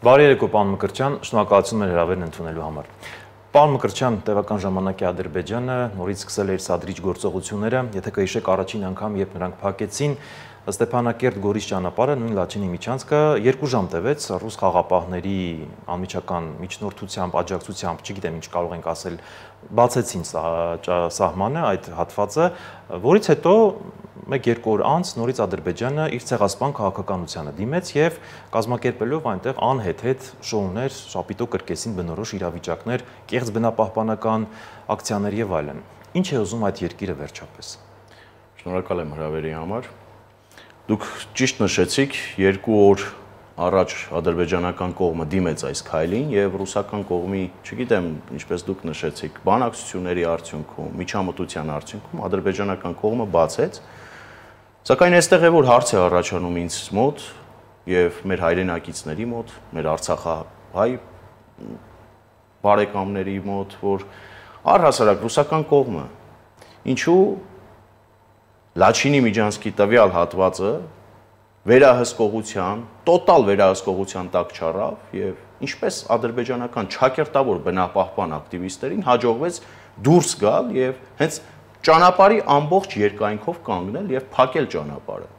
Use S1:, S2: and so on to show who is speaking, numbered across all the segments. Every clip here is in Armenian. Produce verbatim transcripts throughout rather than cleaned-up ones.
S1: Բարի երեկո, պարոն Մկրտչյան, շնորհակալություն մեր հրավերն ընդունելու համար։ Պարոն Մկրտչյան, տևական ժամանակի Ադրբեջանը նորից սկսել է իր սադրիչ գործողությունները, եթե կհիշեք առաջին անգամ, երբ նրանք փակեցին Ստեփանակերտ-Գորիս ճանապարհը, նույն Լաչինի միջանցքը, երկու ժամ տևեց ռուս խաղապահների անմիջական միջնորդությամբ, աջակցությամբ, չգիտեմ ինչ կարող ենք ասել, բացեցին սահմանը, այդ հատվածը, որից հետո մեկ-երկու օր անց նորից Ադրբեջանը իր ցեղասպան քաղաքականությանը դիմեց եւ կազմակերպելով այնտեղ անհեթեթ շոուներ, շապիտո կրկեսին բնորոշ իրավիճակներ, կեղծ բնապահպանական ակցիաներ եւ այլն։ Ինչ է ուզում այդ երկիրը վերջապես։
S2: Շնորհակալ եմ հրավերի համար։ Դուք ճիշտ նշեցիք, երկու օր առաջ ադրբեջանական կողմը դիմեց այս քայլին եւ ռուսական կողմի, չգիտեմ, ինչպես դուք նշեցիք, բանակցությունների արդյունքում, միջամտության արդյունքում ադրբեջանական կողմը բացեց։ Սակայն այստեղ է որ հարց է առաջանում ինձ մոտ եւ մեր հայրենակիցների մոտ, մեր արցախահայ բարեկամների մոտ, որ առհասարակ ռուսական կողմը ինչու Լաչինի միջանցքի տվյալ հատվածը վերահսկողության, տոտալ վերահսկողության տակ չառավ եւ ինչպես ադրբեջանական չակերտավոր բնապահպան ակտիվիստերին հաջողվեց դուրս գալ եւ հենց ճանապարհի ամբողջ երկայնքով կանգնել եւ փակել ճանապարհը։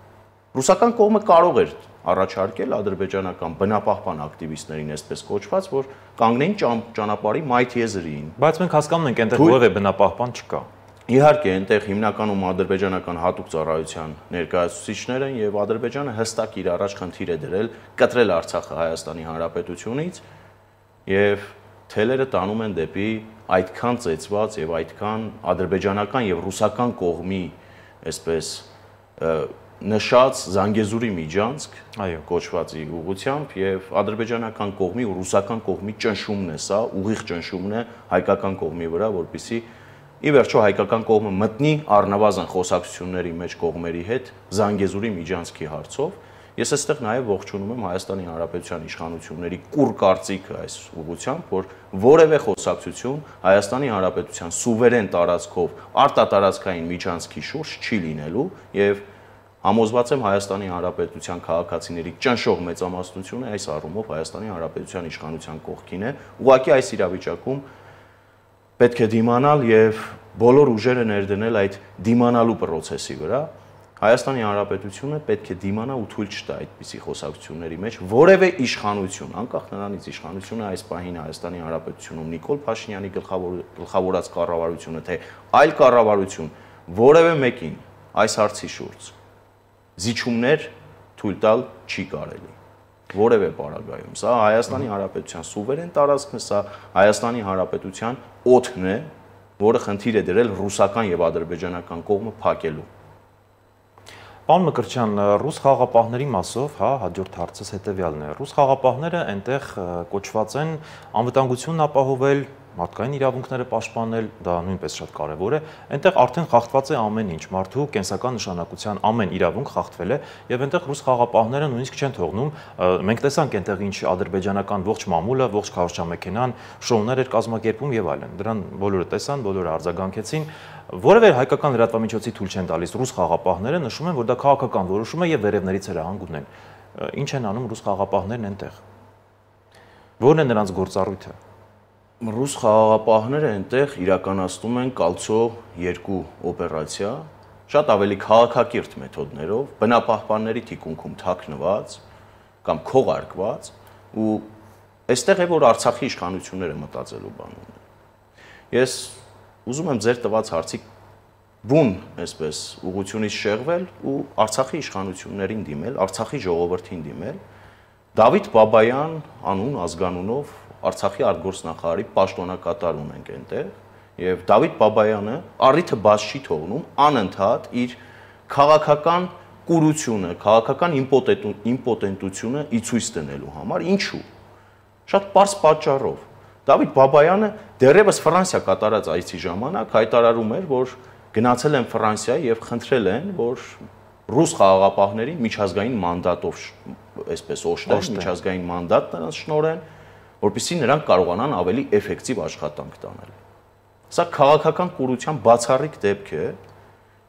S2: Ռուսական կողմը կարող էր առաջարկել ադրբեջանական բնապահպան ակտիվիստներին այսպես կոչված, որ կանգնեին ճանապարհի մայթ եզրին։
S1: Բայց մենք հասկանում ենք, այնտեղ որևէ բնապահպան չկա։
S2: Իհարկե, այնտեղ հիմնականում ադրբեջանական հատուկ ծառայության ներկայացուցիչներ են եւ Ադրբեջանը հստակ իր առաջ խնդիր է դրել կտրել Արցախը Հայաստանի Հանրապետությունից եւ թելերը տանում են դեպի այդքան ծեծված եւ այդքան ադրբեջանական եւ ռուսական կողմի այսպես նշած Զանգեզուրի միջանցք, այո, կոչվածի ուղղությամբ եւ ադրբեջանական կողմի ու ռուսական կողմի ճնշումն է սա, ուղիղ ճնշումն է հայկական կողմի վրա, որպեսզի ի վերջո հայկական կողմը մտնի առնվազն խոսակցությունների մեջ կողմերի հետ Զանգեզուրի միջանցքի հարցով։ Ես այստեղ նաև ողջունում եմ Հայաստանի Հանրապետության իշխանությունների կուռ կարծիքը այս ուղղությամբ, որ որևէ խոսակցություն Հայաստանի Հանրապետության սուվերեն տարածքով արտատարածքային միջանցքի շուրջ չի լինելու եւ համոզված եմ Հայաստանի Հանրապետության քաղաքացիների ճնշող մեծամասնությունը այս առումով Հայաստանի Հանրապետության իշխանության կողքին է։ Ուղղակի այս իրավիճակում պետք է դիմանալ եւ բոլոր ուժերը ներդնել այդ դիմանալու process-ի վրա։ Հայաստանի Հանրապետությունը պետք է դիմանա ու թույլ չտա այդպիսի խոսակցությունների մեջ որևէ իշխանություն, անկախ նրանից իշխանությունը այս պահին Հայաստանի Հանրապետությունում Նիկոլ Փաշինյանի գլխավոր գլխավորած կառավարությունը, թե այլ կառավարություն, որևէ մեկին այս հարցի շուրջ զիջումներ թույլ տալ չի կարելի։ Որևէ պարագայում։ Սա Հայաստանի Հանրապետության սուվերեն տարածքն է, սա Հայաստանի Հանրապետության օդն է, որը խնդիր է դրել ռուսական եւ ադրբեջանական կողմը փակելու։
S1: Պարոն Մկրտչյան, ռուս խաղապահների մասով, հա, հաջորդ հարցս հետեւյալն է։ Ռուս խաղապահները այնտեղ կոչված են անվտանգությունն ապահովել, մարդկային իրավունքները պաշտպանել, դա նույնպես շատ կարևոր է։ Այնտեղ արդեն խախտված է ամեն ինչ, մարդու կենսական նշանակության ամեն իրավունք խախտվել է, եւ այնտեղ ռուս խաղապահները նույնիսկ չեն թողնում։ Մենք տեսանք այնտեղ ինչ ադրբեջանական ողջ մամուլը, ողջ քարոզչամեքենան շոուներ էր կազմակերպում եւ այլն։ Դրան բոլորը տեսան, բոլորը արձագանքեցին։ Որևէ հայկական լրատվամիջոցի թույլ չեն տալիս ռուս խաղապահները, նշում են, որ դա քաղաքական որոշում է եւ վերևներից հրահանգուն են։ Ինչ են անում ռուս խաղապահներն այնտեղ։ Որն է նրանց գործառույթը։
S2: Ռուս խաղաղապահները այնտեղ իրականացնում են Կալցո երկու օպերացիա, շատ ավելի քաղաքակիրթ մեթոդներով, բնապահպանների թիկունքում թաքնված կամ քողարկված, ու այստեղ է որ Արցախի իշխանությունները մտածելու բան ունեն։ Ես ուզում եմ ձեր տված հարցի բուն, այսպես, ուղղությունից շեղվել ու Արցախի իշխանություններին դիմել, Արցախի ժողովրդին դիմել, Դավիթ Բաբայան անուն ազգանունով Արցախի արտգործնախարարի պաշտոնակատար ունենք այնտեղ եւ Դավիթ Բաբայանը առիթը բաց չի թողնում անընդհատ իր քաղաքական կուրությունը, քաղաքական իմպոտենտությունը ի ցույց դնելու համար, ինչու։ Շատ պարզ պատճառով։ Դավիթ Բաբայանը դեռևս Ֆրանսիա կատարած այցի ժամանակ հայտարարում էր, որ գնացել են Ֆրանսիա եւ խնդրել են, որ ռուս խաղաղապահներին միջազգային մանդատով, այսպես օժտել, միջազգային մանդատ նրանց շնորհեն, որպեսզի նրանք կարողանան ավելի էֆեկտիվ աշխատանք տանել։ Սա քաղաքական կուրության բացառիկ դեպք է։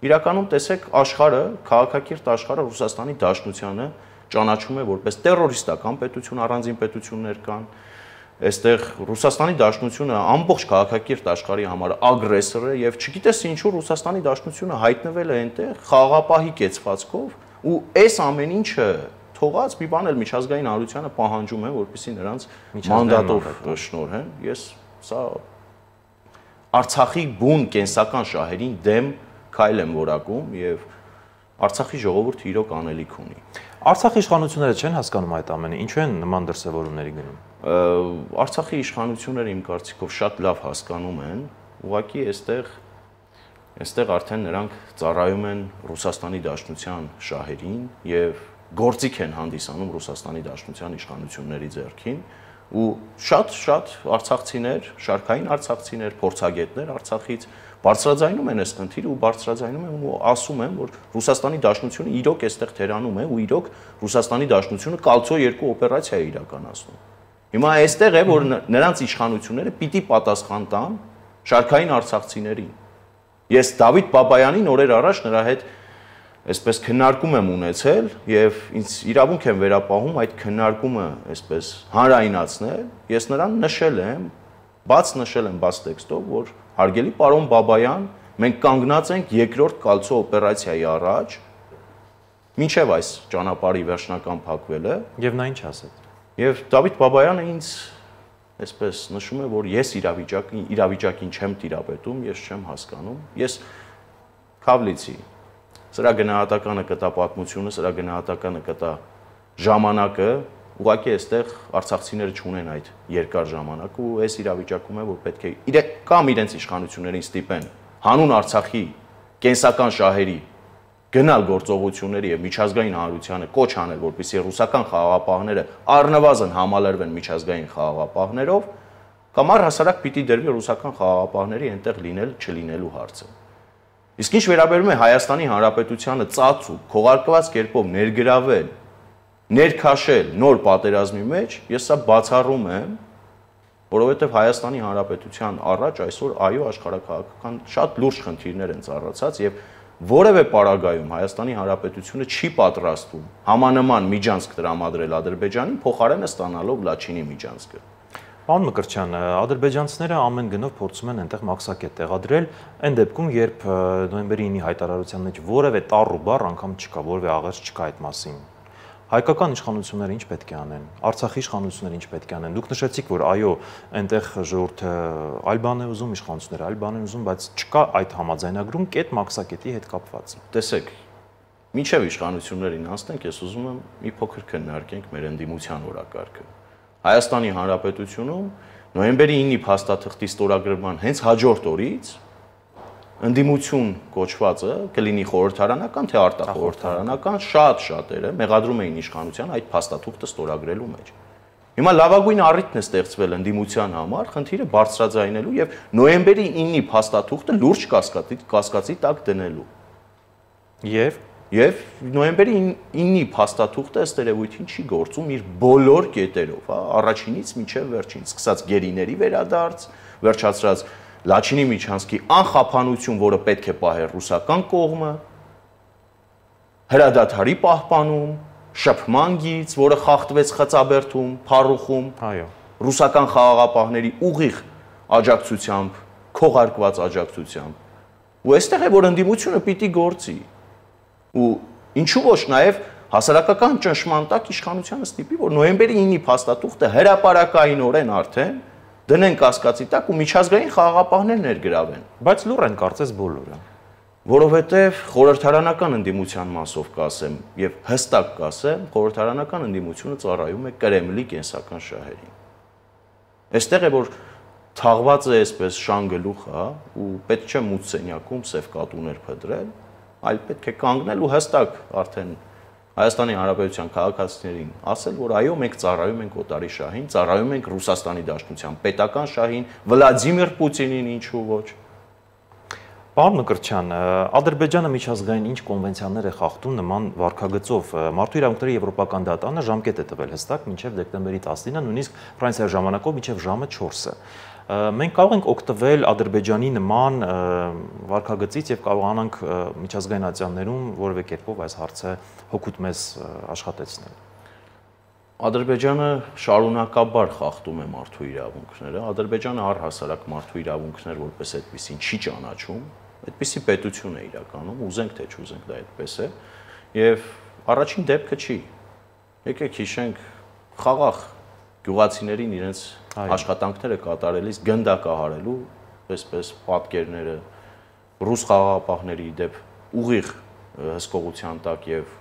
S2: Իրականում տեսեք աշխարհը, քաղաքակիրթ աշխարհը Ռուսաստանի Դաշնությանը ճանաչում է որպես տերորիստական պետություն, առանձին պետություններ կան։ Այստեղ Ռուսաստանի Դաշնությունը ամբողջ քաղաքակիրթ աշխարհի համար ագրեսոր է եւ չգիտես ինչու Ռուսաստանի Դաշնությունը հայտնվել է այնտեղ խաղաղապահի կեցվածքով ու այս ամեն ինչը թողած մի բան էլ միջազգային հանրությանը պահանջում են, որպեսզի նրանց մանդատով շնորհեն։ Ես սա Արցախի բուն կենսական շահերին դեմ քայլ եմ որակում եւ Արցախի ժողովուրդը իրոք անելիք ունի։
S1: Արցախի իշխանությունները չեն հասկանում այդ ամենը, ինչու են նման դրսևորումների գնում։
S2: Արցախի իշխանությունները իմ կարծիքով շատ լավ հասկանում են, ուղղակի այստեղ այստեղ արդեն նրանք ծառայում են Ռուսաստանի Դաշնության շահերին եւ գործիք են հանդիսանում Ռուսաստանի Դաշնության իշխանությունների ձեռքին ու շատ-շատ արցախցիներ, շարքային արցախցիներ, փորձագետներ Արցախից բարձրաձայնում են այս խնդիրը ու բարձրաձայնում են ու ասում են, որ Ռուսաստանի Դաշնությունը իրոք այստեղ թերանում է ու իրոք Ռուսաստանի Դաշնությունը կալցո երկու օպերացիա է իրականացնում։ Հիմա այստեղ է, որ նրանց իշխանությունները պիտի պատասխան տան շարքային արցախցիներին։ Ես Դավիթ Բաբայանին օրեր առաջ նրա հետ այսպես քննարկում եմ ունեցել եւ ինձ իրավունք եմ վերապահում այդ քննարկումը այսպես հանրայնացնել։ Ես նրան նշել եմ, բաց նշել եմ բաց տեքստով, որ հարգելի պարոն Բաբայան, մենք կանգնած ենք երկրորդ կալցո օպերացիայի առաջ, մինչև այս ճանապարհի վերջնական փակվելը
S1: եւ նա ինչ ասեց։
S2: Եվ Դավիթ Բաբայանը ինձ այսպես նշում է, որ ես իրավիճակին իրավիճակին չեմ տիրապետում, ես չեմ հասկանում։ Ես Քավլիցի սրա գնահատականը կտա պատմությունը, սրա գնահատականը կտա ժամանակը, ուղղակի այստեղ արցախցիները չունեն այդ երկար ժամանակ ու այս իրավիճակում է, որ պետք է իրենք կամ իրենց իշխանություններին ստիպեն հանուն Արցախի կենսական շահերի գնալ գործողությունների եւ միջազգային հանրությանը կոչ անել, որպեսզի ռուսական խաղաղապահները առնվազն համալրվեն միջազգային խաղաղապահներով, կամ առհասարակ պիտի դրվի ռուսական խաղաղապահների այնտեղ լինել չլինելու հարցը։ Իսկ ինչ վերաբերում է Հայաստանի Հանրապետությանը ծածու, քողարկված կերպով ներգրավել, ներքաշել նոր պատերազմի մեջ, ես սա բացառում եմ, որովհետև Հայաստանի Հանրապետության առաջ այսօր այո աշխարհակաղակական շատ լուրջ խնդիրներ են ծառացած եւ որևէ պարագայում Հայաստանի Հանրապետությունը չի պատրաստվում համանման միջանցք տրամադրել Ադրբեջանին, փոխարենը ստանալով Լաչինի միջանցքը։
S1: Պարոն Մկրտչյան, ադրբեջանցիները ամեն գնով փորձում են այնտեղ մաքսակետ տեղադրել, այն դեպքում, երբ նոյեմբերի ինի հայտարարության մեջ որևէ տառ ու բառ անգամ չկա, որևէ աղերս չկա այդ մասին։ Հայկական իշխանությունները ինչ պետք է անեն, Արցախի իշխանությունները ինչ պետք է անեն։ Դուք նշեցիք, որ այո, այնտեղ ժողովուրդը այլ բան է ուզում, իշխանությունները այլ բան են ուզում, բայց չկա այդ համաձայնագրում կետ մաքսակետի հետ կապված։
S2: Տեսեք, մինչև իշխանություններին անցնենք, ես ուզում եմ մի փոքր քննարկենք մեր ընդդիմության օրակարգը։ Հայաստանի Հանրապետությունում նոյեմբերի ինի փաստաթղթի ստորագրման հենց հաջորդ օրից ընդդիմություն կոչվածը կլինի խորհրդարանական թե արտախորհրդարանական շատ շատերը մեղադրում էին իշխանության այդ փաստաթուղթը ստորագրելու մեջ։ Հիմա լավագույն առիթն է ստեղծվել ընդդիմության համար խնդիրը բարձրաձայնելու եւ նոյեմբերի ինի փաստաթուղթը լուրջ կասկածի կասկածի տակ դնելու։ Եվ Եվ նոյեմբերի ինի փաստաթուղթը ըստ երևույթին չի գործում իր բոլոր կետերով, հա, առաջինից մինչև վերջին, սկսած գերիների վերադարձ, վերջացրած Լաչինի միջանցքի անխափանություն, որը պետք է պահեր ռուսական կողմը, հրադադարի պահպանում, շփման գիծ, որը խախտվեց Խծաբերդում, Փառուխում,
S1: այո,
S2: ռուսական խաղաղապահների ուղիղ աջակցությամբ, քողարկված աջակցությամբ։ Ու այստեղ է, որ ընդդիմությունը պիտի գործի։ Ու ինչու ոչ նաև հասարակական ճնշման տակ իշխանությանը ստիպի, որ նոյեմբերի ինի փաստաթուղթը հրապարակայինորեն արդեն դնեն կասկածի տակ ու միջազգային խաղաղապահներ ներգրավեն։
S1: Բայց լուր են կարծես բոլորը։
S2: Որովհետև խորհրդարանական ընդդիմության մասով կասեմ եւ հստակ կասեմ, խորհրդարանական ընդդիմությունը ծառայում է Կրեմլի կենսական շահերին։ Այստեղ է, որ թաղված է այսպես շանգլուխ, հա, ու պետք չէ մութ սենյակում սև կատուներ փդրել, այլ պետք է կանգնել ու հստակ արդեն Հայաստանի Հանրապետության քաղաքացիներին ասել, որ այո, մենք ծառայում ենք օտարի շահին, ծառայում ենք Ռուսաստանի Դաշնության պետական շահին, Վլադիմիր Պուտինին, ինչու ոչ։
S1: Պարոն Մկրտչյան, Ադրբեջանը միջազգային ինչ կոնվենցիաներ է խախտում նման վարքագծով։ Մարդու իրավունքների եվրոպական դատարանը ժամկետ է տվել հստակ մինչև դեկտեմբերի տասնինը, նույնիսկ Ֆրանսիայի ժամանակով մինչև ժամը չորսը։ Մենք կարող ենք օգտվել Ադրբեջանի նման վարքագծից եւ կարողանանք միջազգային ատյաններում որևէ կերպով այս հարցը հօգուտ մեզ աշխատեցնել։
S2: Ադրբեջանը շարունակաբար խախտում է մարդու իրավունքները, Ադրբեջանը առհասարակ մարդու իրավունքներ որպես այդպեսին չի ճանաչում, այդպիսի պետություն է իրականում, ուզենք թե չուզենք դա այդպես է, եւ առաջին դեպքը չի։ Եկեք հիշենք խաղաղ գյուղացիներին իրենց աշխատանքները կատարելիս գնդակահարելու, այսպես պատկերները ռուս խաղաղապահների դեպ ուղիղ հսկողության տակ եւ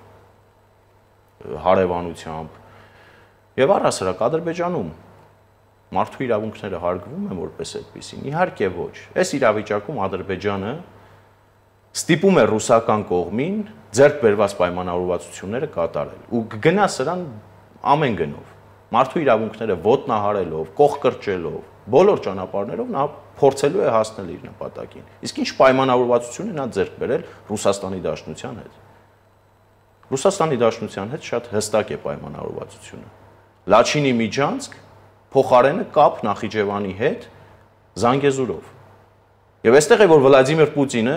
S2: հարևանությամբ եւ առհասարակ Ադրբեջանում մարդու իրավունքները հարգվում են որպես այդպեսին։ Իհարկե ոչ։ Այս իրավիճակում Ադրբեջանը ստիպում է ռուսական կողմին ձեռք բերված պայմանավորվածությունները կատարել ու կգնա սրան ամեն գնով։ Մարդու իրավունքները ոտնահարելով, կողկրճելով, բոլոր ճանապարհներով նա փորձելու է հասնել իր նպատակին։ Իսկ ինչ պայմանավորվածություն է նա ձեռք բերել Ռուսաստանի Դաշնության հետ։ Ռուսաստանի Դաշնության հետ շատ հստակ է պայմանավորվածությունը։ Լաչինի միջանցք փոխարենը կապ Նախիջևանի հետ Զանգեզուրով։ Եվ այստեղ է որ Վլադիմիր Պուտինը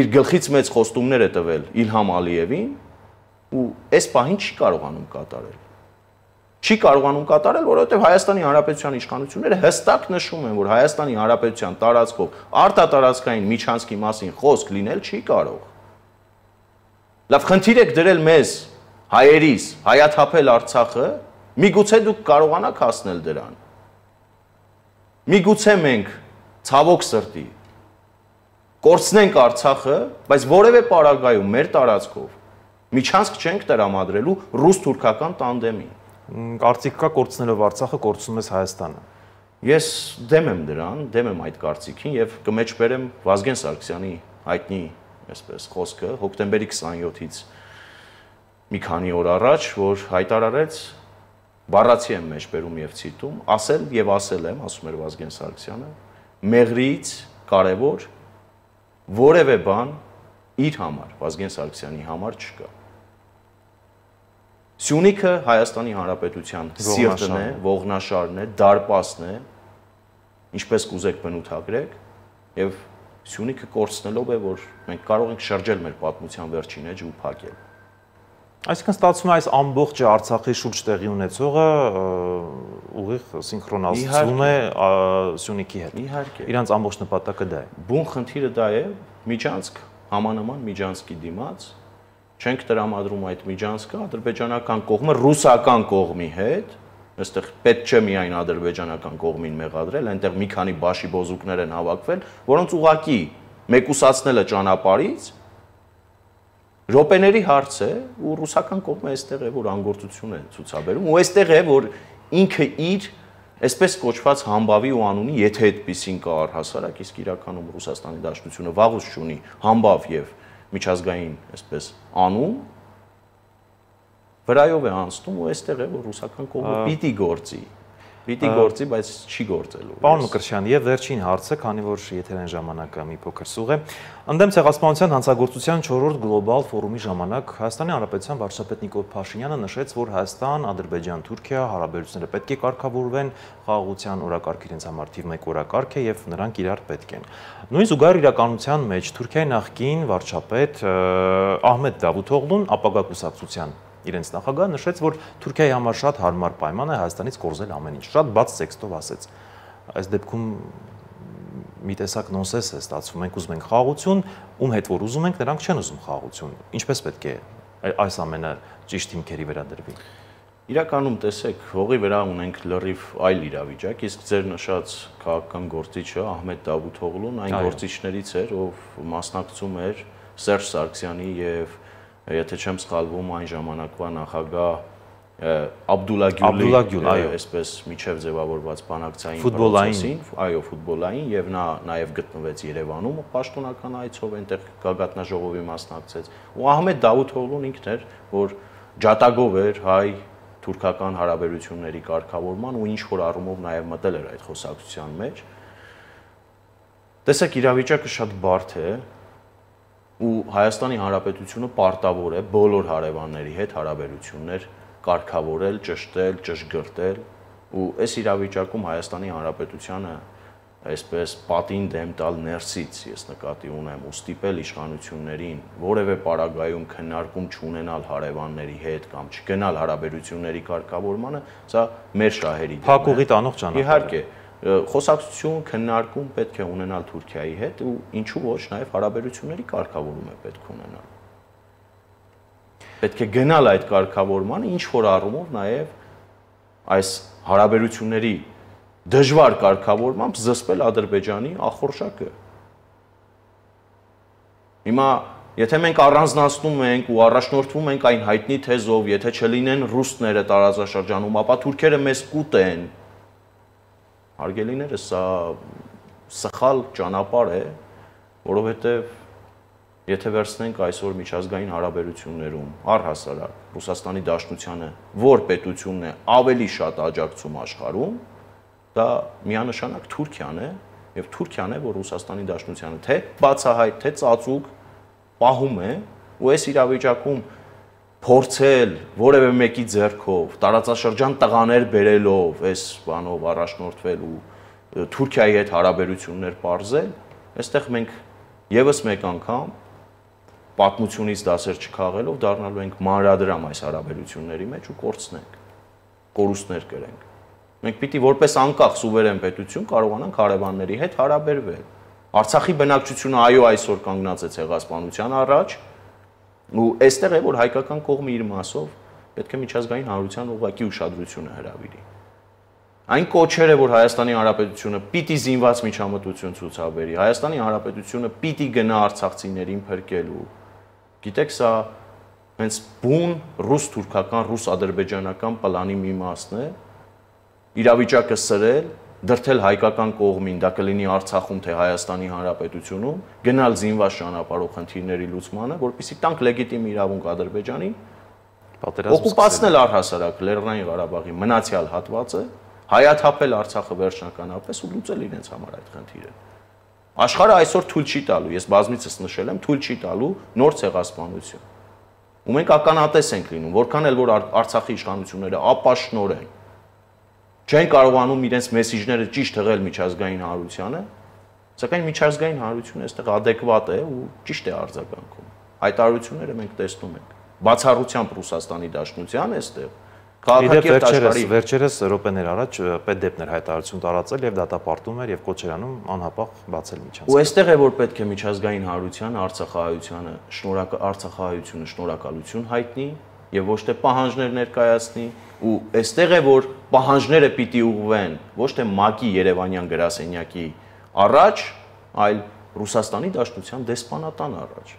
S2: իր գլխից մեծ խոստումներ է տվել Իլհամ Ալիևին ու այս պահին չի կարողանում կատարել։ Չի կարողանում կատարել, որովհետև Հայաստանի Հանրապետության իշխանությունները հստակ նշում են, որ Հայաստանի Հանրապետության տարածքով արտատարածքային միջանցքի մասին խոսք լինել չի կարող։ Լավ, խնդիր եք դրել մեզ, հայերիս, հայաթափել Արցախը, միգուցե դուք կարողանաք հասնել դրան։ Միգուցե մենք ցավոք սրտի կորցնենք Արցախը, բայց որևէ պարագայում մեր տարածքով միջանցք չենք տրամադրելու ռուս-թուրքական տանդեմին։
S1: Կարծիք կա կորցնելով Արցախը կորցնում ես Հայաստանը։
S2: Ես դեմ եմ դրան, դեմ եմ այդ կարծիքին եւ կմեջբերեմ Վազգեն Սարգսյանի հայտնի, այսպես խոսքը, հոկտեմբերի քսաներկուից մի քանի օր առաջ, որ հայտարարեց, բառացի եմ մեջբերում եւ ցիտում, ասել եւ ասել եմ, ասում էր Վազգեն Սարգսյանը, մեղրից կարևոր որևէ բան իր համար, Վազգեն Սարգսյանի համար չկա։ Սյունիքը Հայաստանի Հանրապետության սիրտն է, ողնաշարն է, դարպասն է, ինչպես կուզեք բնութագրեք, եւ Սյունիքը կորցնելով է, որ մենք կարող ենք շրջել մեր պատմության վերջին էջը ու փակել։
S1: Այսինքն ստացվում է այս ամբողջ Արցախի շուրջ տեղի ունեցողը ուղիղ սինխրոնացվում է Սյունիքի հետ։
S2: Իհարկե։
S1: Իրանց ամբողջ նպատակը դա է։
S2: Բուն խնդիրը դա է, միջանցք, համանման միջանցքի դիմաց չենք տրամադրում այդ միջանցքը ադրբեջանական կողմը ռուսական կողմի հետ, այստեղ պետք չէ միայն ադրբեջանական կողմին մեղադրել, այնտեղ մի քանի բաշի բոզուկներ են հավաքվել, որոնց ուղակի մեկուսացնելը ճանապարհից րոպեների հարց է ու ռուսական կողմը այստեղ է որ անգործություն է ցուցաբերում ու այստեղ է որ ինքը իր այսպես կոչված համբավի ու անունի, եթե այդպեսին կա առհասարակ, իսկ իրականում Ռուսաստանի Դաշնությունը վաղուց չունի համբավ եւ միջազգային, այսպես, անուն վրայով է անցնում ու այստեղ է որ ռուսական կողմը պիտի գործի, պիտի գործի, բայց չի գործելու։
S1: Պարոն Մկրտչյան, եւ վերջին հարցը, քանի որ եթերային ժամանակը մի փոքր սուղ է, ընդդեմ ցեղասպանության հանցագործության չորրորդ գլոբալ ֆորումի ժամանակ Հայաստանի Հանրապետության վարչապետ Նիկոլ Փաշինյանը նշեց, որ Հայաստան, Ադրբեջան, Թուրքիա հարաբերությունները պետք է կարգավորվեն խաղաղության օրակարգ իրենց համար թիվ մեկ օրակարգ է եւ նրանք իրար պետք են։ Նույն զուգահեռ իրականության մեջ Թուրքիայի նախկին վարչապետ Ահմեդ Դավութօղլուն ապագա կուսակցության իրենց նախագահը նշեց, որ Թուրքիայի համար շատ հարմար պայման է Հայաստանից կորզել ամեն ինչ, շատ բաց տեքստով ասեց։ Այս դեպքում մի տեսակ նոնսենս է ստացվում, մենք ուզում ենք խաղաղություն, ում հետ որ ուզում ենք, նրանք չեն ուզում խաղաղություն։ Ինչպես պետք է այս ամենը ճիշտ հիմքերի վերադրվի։
S2: Իրականում տեսեք, հողի վրա ունենք լրիվ այլ իրավիճակ, իսկ ձեր նշած քաղաքական գործիչը Ահմեդ Դավութօղլուն այն գործիչներից էր, ով մասնակցում էր Սերժ Սարգսյանի եւ եթե չեմ սխալվում այն ժամանակվա նախագահ Աբդուլլա Գյուլի, այսպես միջև ձևավորված բանակցային
S1: ֆուտբոլային,
S2: այո, ֆուտբոլային եւ նա նաեւ գտնվեց Երևանում պաշտոնական այցով այնտեղ գագաթնաժողովի մասնակցեց։ Ու Ահմեդ Դավութօղլուն ինքն էր, որ ջատագով էր հայ թուրքական հարաբերությունների կարգավորման ու ինչ որ առումով նաեւ մտել էր այդ խոսակցության մեջ։ Տեսեք, իրավիճակը շատ բարդ է ու Հայաստանի Հանրապետությունը պարտավոր է բոլոր հարևանների հետ հարաբերություններ կարգավորել, ճշտել, ճշգրտել Ու այս իրավիճակում Հայաստանի Հանրապետությանը այսպես պատին դեմ տալ ներսից ես նկատի ունեմ ու ստիպել իշխանություններին որևէ պարագայում քննարկում չունենալ հարևանների հետ կամ չգնալ հարաբերությունների կարգավորմանը, սա մեր շահերի դեմ է։
S1: Փակ ուղի տանող ճանապարհ։
S2: Իհարկե, խոսակցություն, քննարկում պետք է ունենալ Թուրքիայի հետ ու ինչու ոչ նաև հարաբերությունների կարգավորում է պետք ունենալ։ Պետք է գնալ այդ կարգավորմանը, ինչ որ առումով նաև այս հարաբերությունների դժվար կարգավորմամբ զսպել Ադրբեջանի ախորժակը։ Հիմա, եթե մենք առանձնացնում ենք ու առաջնորդվում ենք այն հայտնի թեզով, եթե չլինեն ռուսները տարածաշրջանում, ապա թուրքերը մեզ կուտեն։ Հարգելիներս, սա սխալ ճանապարհ է, որովհետև եթե վերցնենք այսօր միջազգային հարաբերություններում առհասարակ Ռուսաստանի Դաշնությանը որ պետությունն է ավելի շատ աջակցում աշխարհում, դա միանշանակ Թուրքիան է, եւ Թուրքիան է, որ Ռուսաստանի Դաշնությանը թե բացահայտ, թե ծածուկ պահում է, ու այս իրավիճակում փորձել որևէ մեկի ձեռքով տարածաշրջան տղաներ բերելով, այս բանով առաջնորդվել ու Թուրքիայի հետ հարաբերություններ պարզել, այստեղ մենք եւս մեկ անգամ պատմությունից դասեր չքաղելով դառնալու ենք մանրադրամ այս հարաբերությունների մեջ ու կորցնենք, կորուստներ կրենք։ Մենք պիտի որպես անկախ սուվերեն պետություն կարողանանք հարևանների հետ հարաբերվել։ Արցախի բնակչությունը այո այսօր կանգնած է ցեղասպանության առաջ, ու այստեղ է որ հայկական կողմը իր մասով պետք է միջազգային հանրության ուղղակի ուշադրությունը հրավիրի։ Այն կոչերը, որ Հայաստանի Հանրապետությունը պիտի զինված միջամտություն ցուցաբերի, Հայաստանի Հանրապետությունը պիտի գնա արցախցիներին փրկելու։ Գիտեք, սա հենց բուն ռուս-թուրքական, ռուս-ադրբեջանական պլանի մի մասն է, իրավիճակը սրել, դրթել հայկական կողմին, դա կլինի Արցախում, թե Հայաստանի Հանրապետությունում, գնալ զինված ճանապարհով խնդիրների լուծմանը, որպեսզի տանք լեգիտիմ իրավունք Ադրբեջանին, օկուպացնել առհասարակ Լեռնային Ղարաբաղի մնացյալ հատվածը, հայաթափել Արցախը վերջնականապես ու լուծել իրենց համար այդ խնդիրը։ Աշխարհը այսօր թույլ չի տալու, ես բազմիցս նշել եմ, թույլ չի տալու նոր ցեղասպանություն։ Ու մենք ականատես ենք լինում, որքան էլ որ Արցախի իշխանությունները ապաշնորեն չեն կարողանում իրենց մեսիջները ճիշտ հղել միջազգային հանրությանը, սակայն միջազգային հանրությունը այստեղ adekvat է ու ճիշտ է արձագանքում։ Հայտարարությունները մենք տեսնում ենք։ Բացառությամբ Ռուսաստանի Դաշնության այստեղ
S1: քաղաքակիրթ աշխարհի վերջերս րոպեներ առաջ պետդեպներ հայտարարություն տարածել եւ դատապարտում էր եւ կոչեր անում անհապաղ բացել միջանցք։
S2: Ու այստեղ է որ պետք է միջազգային հանրությանը Արցախահայությանը շնորհակալ Արցախահայությունը շնորհակալություն հայտնի եւ ոչ թե պահանջներ ներկայացնի, ու այստեղ է որ պահանջները պիտի ուղղվեն ոչ թե ՄԱԿ-ի Երևանյան գրասենյակի առաջ, այլ Ռուսաստանի Դաշնության դեսպանատան առաջ։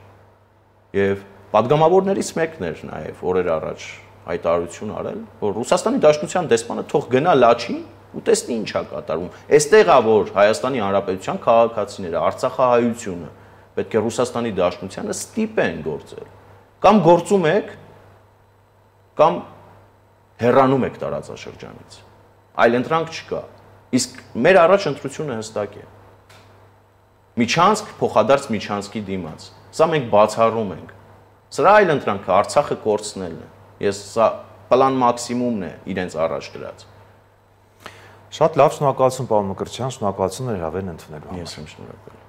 S2: Եվ падգամավորներից մեկն էր նաեւ օրեր առաջ հայտարարություն արել, որ Ռուսաստանի Դաշնության դեսպանը թող գնա Լաչին ու տեսնի ինչ է կատարում։ Այստեղ է որ Հայաստանի Հանրապետության քաղաքացիները, Արցախահայությունը պետք է Ռուսաստանի Դաշնությանը ստիպեն գործել։ Կամ գործում եք, կամ հեռանում եք տարածաշրջանից։ Այլ ընտրանք չկա։ Իսկ մեր առաջ ընտրությունը հստակ է։ Միջանցք փոխադարձ միջանցքի դիմաց։ Սա մենք բացառում ենք։ Սրա այլ ընտրանքը Արցախը կորցնելն է։ Ես սա պլան մաքսիմումն է իրենց առաջ դրած։
S1: Շատ լավ, շնորհակալություն պարոն Մկրտչյան, շնորհակալություն հրավերն ընդունելու համար։
S2: Ես եմ շնորհակալ։